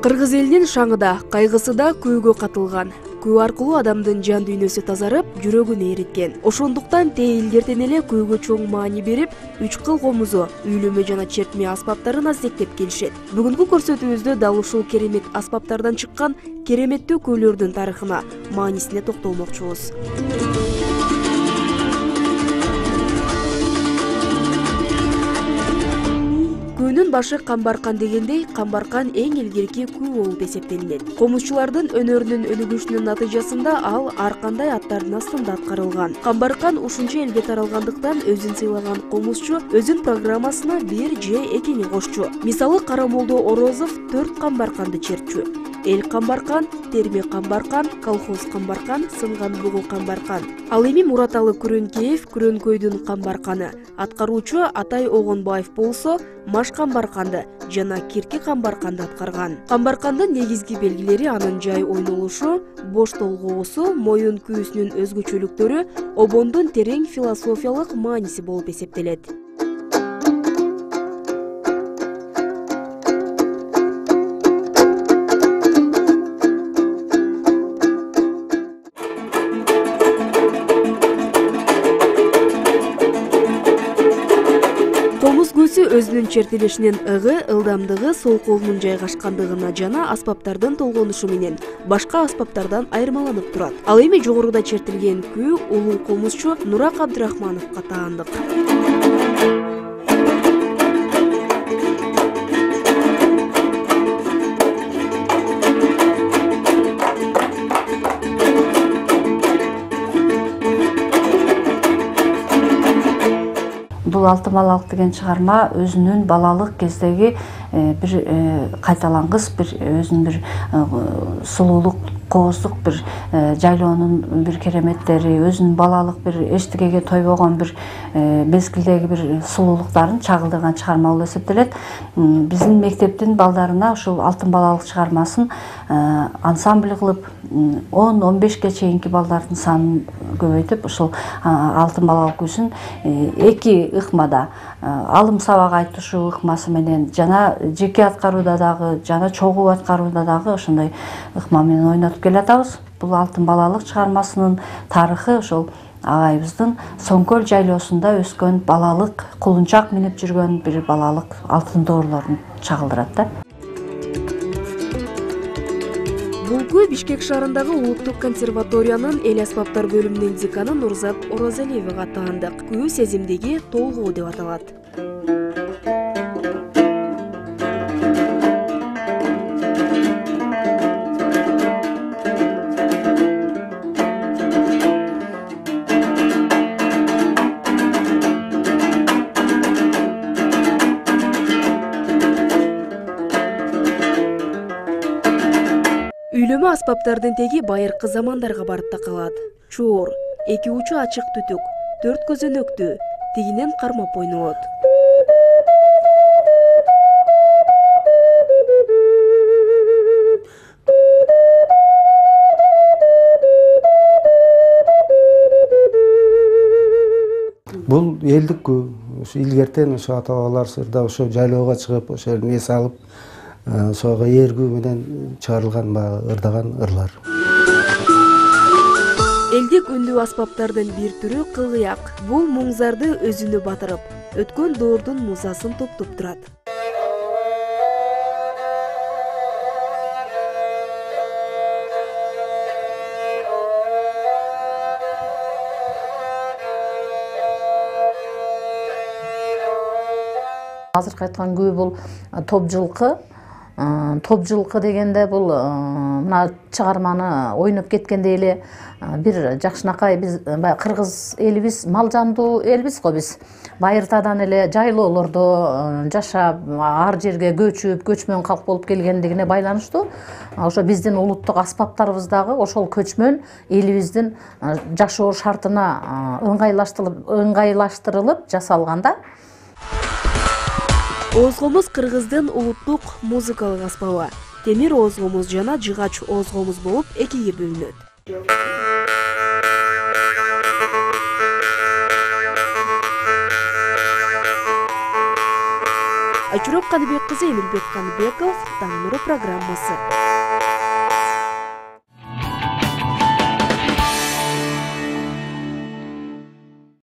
Кыргыз элинин шаңы да, кайгысы да күүгө катылган. Күү аркылуу адамдын жан дүйнөсү тазарып, жүрөгүн ээриткен. Ошондуктан тээ илгертен эле күүгө чоң маани берип, 3 кыл комузу, үйлөмө жана чертме аспаптарын аздектеп келишет. Бүгүнкү көрсөтүүбүздө дал ушул керемет аспаптардан чыккан кереметтүү күүлөрдүн тарыхына, маанисине токтолмокчубуз. Күүнүн башы камбаркан дегендей, камбаркан эң илгерки күү болуп эсептелинет. Комузчулардын өнөрүнүн өнүгүшүнүн натыйжасында ал ар кандай аттардын астында аткарылган. Камбаркан ушунча элге таралгандыктан өзүн сыйлаган комузчу өзүнүн программасына бир же экини кошчу. Мисалы, Карамолдо Орозов 4 камбарканды чертчү. Эл камбаркан, терме камбаркан, колхоз камбаркан, сынган бугу камбаркан. Ал эми Мураталы Күрөнкеев Күрөнкөйдүн камбарканы, аткаруучу Атай Огонбаев болсо маш камбарканды жана кирки камбарканды аткарган. Камбаркандын негизги белгилери анын жай ойнолушу, бош толгоосу, моюн күүсүнүн өзгөчөлүктөрү, обондун терең философиялык мааниси болуп эсептелет. Комуз күүсү өзүнүн чертилишинин ыгы, ылдамдыгы, сол колунун жайгашкандыгына жана аспаптардын толгонушу менен башка аспаптардан айырмаланып турат. Ал эми жогоруда чертилген күү улуу комузчу Нурак Абдрахмановго таандык. Бул Алтын балалык деген чыгарма өзүнүн балалык кездеги бир кайталангыс, бир өзүнүн бир сулуулук, кооздук бир жайлоонун бир кереметтери, өзүнүн балалык бир эчтекеге тойбогон бир мезгилдеги бир сулуулуктарын чагылдырган чыгарма болуп эсептелет. Биздин мектептин балдарына ушул Алтын балалык чыгармасын ансамбль кылып 10-15ге чейинки балдардын санын көбөйтүп, ушул Алтын балалык күүсүн 2 ыкмада, алым сабак айтышуу ыкмасы менен жана жеке аткарууда дагы, жана чогуу аткарууда дагы ошондой ыкма менен ойнотуп келатабыз. Бул Алтын балалык чыгармасынын тарыхы ошол агайыбыздын Соңкөл жайлоосунда өскөн балалык, кулунчак минип жүргөн бир балалык алтын доорлорун чагылдырат да. Бул күү Бишкек шаарындагы Улуттук консерваториянын эл аспаптар бөлүмүнүн деканы Нурзат Оразалиевага таандык. Күү сезимдеги толгоо деп аталат. Үйлөмө аспаптардын теги байыркы замандарга барып такалат. Чоор, 2 учу ачык түтүк, 4 көзөнөктүү, тигинен кармап ойнолот. Бул элдик күү, ошо илгертен ошо ата-бабалар сырда ошо жайлоого чыгып, ошо эмне салып, ошого ээргүү менен чыгарылган ырдаган ырлар. Элдик үндүү аспаптардын бир түрү кылгыяк. Бул муңзарды өзүнө батырып, өткөн доордун музасын топтоп турат. Азыркы айткан күү бул топ жылкы. Топ жылкы дегенде бул мына чыгарманы ойноп кеткенде эле бир жакшынакай биз кыргыз элибиз мал жандуу элбиз го биз. Байыртадан эле жайлоолордо жашап, ар жерге көчүп, көчмөн калк болуп келгендигине байланыштуу. Ошо биздин улуттук аспаптарыбыз дагы ошол көчмөн элибиздин жашоо шартына ыңгайлаштырылып жасалган да. Оозгомуз кыргыздын улуттук музыкалык аспабы. Темир оозгомуз жана жыгач оозгомуз болуп экиге бөлүнөт. Айчурок Каныбек кызы, Эмилбек Каныбеков, Таң нуру программасы.